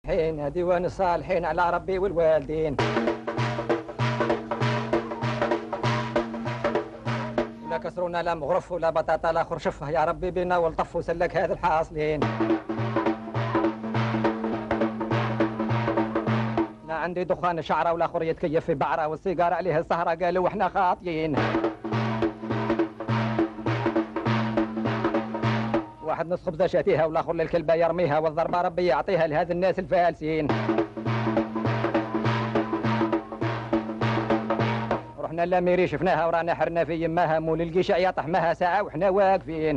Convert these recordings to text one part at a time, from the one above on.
حين ديوان الصالحين على ربي والوالدين. لا كسرونا لا مغرف ولا بطاطا لا خرشفه يا ربي بينا والطف وسلك هذا الحاصلين. لا عندي دخان شعره ولا خريه كيف في بعره والسيجاره عليها السهره قالوا واحنا خاطيين. واحد نص خبزه شاتيها والاخر للكلبه يرميها والضربه ربي يعطيها لهذا الناس الفالسين. رحنا لاميري شفناها ورانا حرنا في يماها مول القشع يطحمها ساعه وحنا واقفين.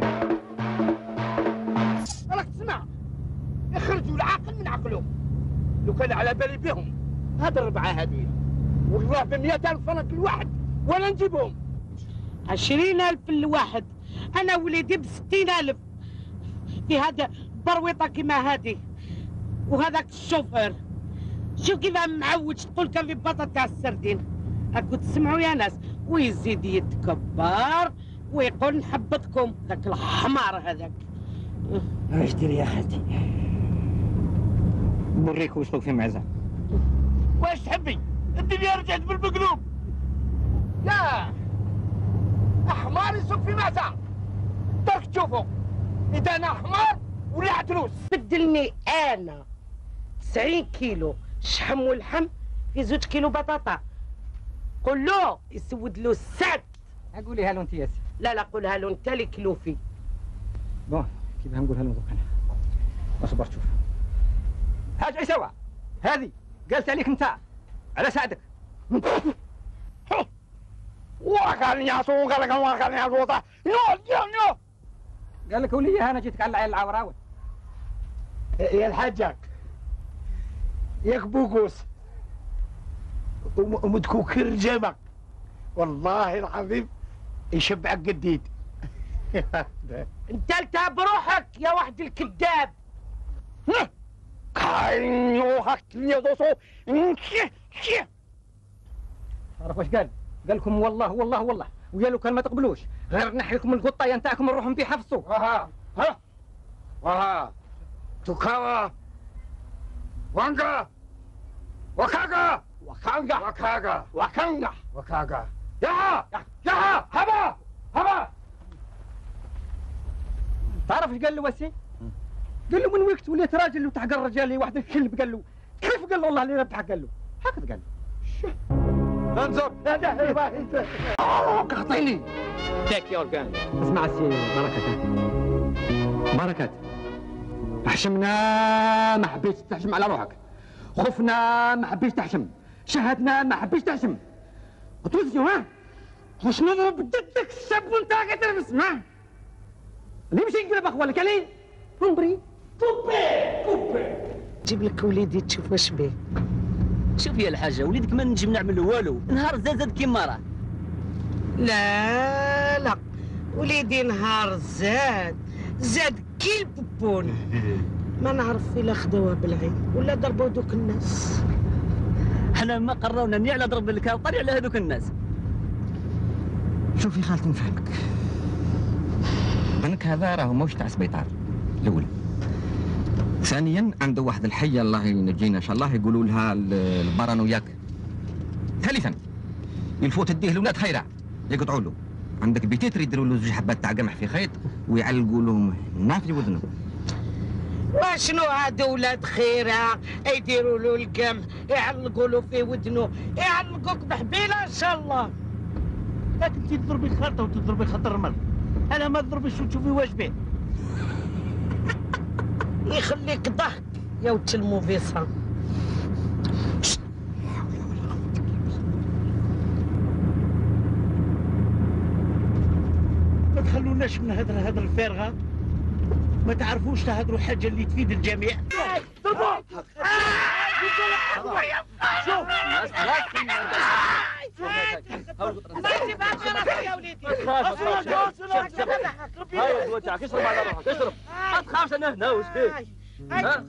راك تسمع يخرجوا العاقل من عقله. لو كان على بالي بهم هاد الربعه هذويا والله ب100,000 فرنك الواحد ولا نجيبهم. 20,000 الواحد. انا وليدي ب60,000 في هذا برويطه كيما هذه وهذاك الشوفير. شوف كيف معوج تقول كان في بطاطا تاع السردين. هاكو تسمعوا يا ناس ويزيد يتكبر ويقول نحبطكم ذاك الحمار هذاك. اش ديري يا خالتي؟ نوريك واش في معزه. واش تحبي؟ الدنيا رجعت بالمقلوب. يا حمار يسوق في معزه. درك تشوفوا اذا انا حمار ولا عتروس. بدلني انا 90 كيلو شحم ولحم في 2 كيلو بطاطا. قول له يسود له السد. قوليها له انت ياسي. لا قولها له انت اللي كلوفي. بون كيف نقولها له دوك انا. اصبر شوف. حاج عيسوى هذه قالت عليك انت على سعدك. وكان ياسو وكان ياسو نو قال لك وليها انا جيتك على العين العوراوي. يا الحاجك ياك بوكوس ومدكوكر جامك والله العظيم يشبعك قديد. انت التهب بروحك يا واحد الكذاب. تعرف واش قال؟ قال لكم والله والله والله ويا لو كان ما تقبلوش غير نحيكم القطايه نتاعكم نروحوا بيه حفصوا. ها توكاوا وانغا وكاغا وكاغا يا هبا تعرف ايش قال له وسي؟ قال له من وقت وليت راجل وتحقر رجالي واحد الكلب. قال له كيف؟ قال له والله اللي ربحك. قال له هكذا قال له. انظر اعطيني تاك يور جان. اسمع السي بركات حشمنا ما حبيتش تحشم على روحك، خفنا ما حبيتش تحشم، شهدنا ما حبيتش تحشم. وتوزيو ها واش نضرب بدك الشاب وانت قاعد تلبس ها اللي مشي يقلب اخوالك عليه عمري كوبي جيب لك وليدي تشوف واش بيه. شوف يا الحاجه وليدك ما نجم نعمل له والو، نهار زاد كيما راه. لا وليدي نهار زاد كي البوبون. ما نعرف الا خدوها بالعين ولا ضربوا دوك الناس. حنا ما قرونا ني على ضرب الكاوطري على هذوك الناس. شوفي خالتي نفهمك، بنك هذا راهو ماهوش تاع سبيطار الاولى. ثانيا عنده واحد الحيه الله ينجينا ان شاء الله يقولوا لها البارانوياك. ثالثا يلفوا تديه لولاد خيرع يقطعوا له. عندك بيتيتر يديروا له 2 حبات تاع قمح في خيط ويعلقوا لهم هنا في وذنه. واشنو هادو ولاد خيرع يديروا له القمح يعلقوا له في ودنه، يعلقوك بحبيله ان شاء الله. لكن انت تضربي الخرطه وتضربي خط الرمل، انا ما تضربيش وتشوفي واش بيه. يخليك ضحك يا ولد الموفيسا. ما تخلوناش من هذا الفارغه، ما تعرفوش تهدروا حاجه اللي تفيد الجميع. ما تخافش انا هنا واش بيه؟ ها؟